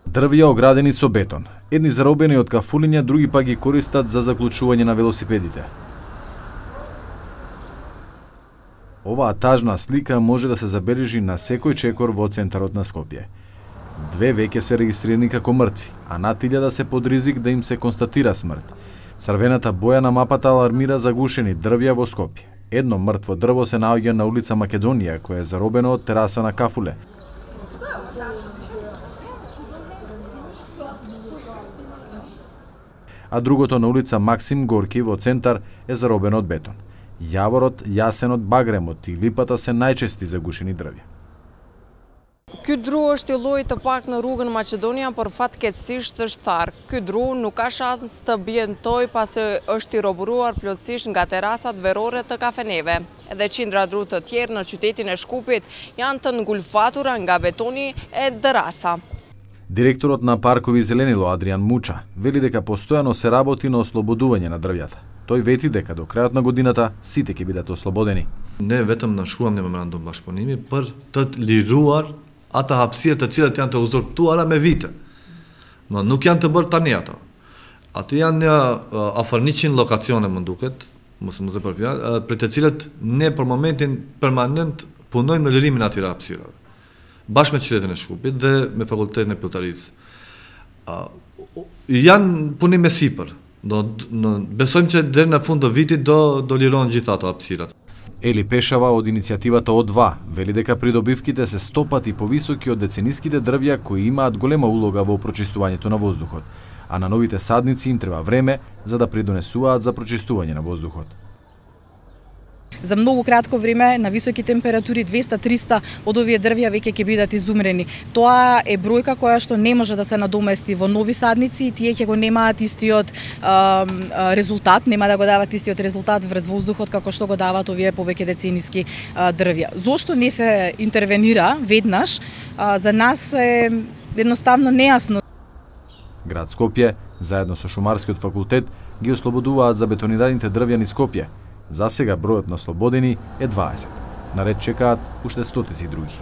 Дрвја оградени со бетон. Едни заробени од кафулиња, други па ги користат за заклучување на велосипедите. Оваа тажна слика може да се забележи на секој чекор во центарот на Скопје. Две веќе се регистрирани како мртви, а над 1000 се под ризик да им се констатира смрт. Црвената боја на мапата алармира за гушени дрвја во Скопје. Едно мртво дрво се наоѓа на улица Македонија, која е заробено од тераса на кафуле. А другото на улица Максим Горки во центар е заробено од бетон. Јаворот, јасенот, багремот и липата се најчести загушени дрвја. Ky dru është i llojit të pak në rrugën Maqedonia, por fatkeqësisht është tharë. Ky dru nuk ka shans të bjentoj pasi është i roburuar plotësisht nga terasat verore të kafeneve. Edhe qindra dru të tjerë në qytetin e Shkupit janë të ngulfatura nga betoni e dërasa. Директорот на Паркови Зеленило Адриан Муча вели дека постојано се работи на ослободување на дрвјата. Тој вети дека до крајот на годината сите ќе бидат ослободени. Ne vetëm nënshkruam një memorandum bashkëpunimi për të liruar ata hapësirë të cilat janë të uzurpuara me vite. Nuk janë të bërë tani ato. Aty janë afër 100 lokacione më duket, mos e për fjalë, për të cilët ne për momentin permanent punojmë në lirimin e atyre hapësirave. Bashkë me qytetin e Shkupit dhe me fakultetin e Pilltarisë. Janë punime sipër. Besojmë që deri në fund të vitit do lirohen gjithë ato hapësirat. Ели Пешава од иницијативата О2 вели дека придобивките се 100 пати повисоки од децениските дрвја кои имаат голема улога во прочистувањето на воздухот, а на новите садници им треба време за да придонесуваат за прочистување на воздухот. За многу кратко време, на високи температури, 200-300 од овие дрвја веќе ќе бидат изумрени. Тоа е бројка која што не може да се надомести во нови садници и тие ќе го немаат истиот резултат, нема да го дават истиот резултат врз воздухот како што го дават овие повеќе децениски дрвја. Зошто не се интервенира веднаш, за нас е едноставно нејасно. Град Скопје, заедно со Шумарскиот факултет, ги ослободуваат за бетонираните дрвја низ Скопје. За сега бројот на слободени е 20. Наред чекаат уште стотици други.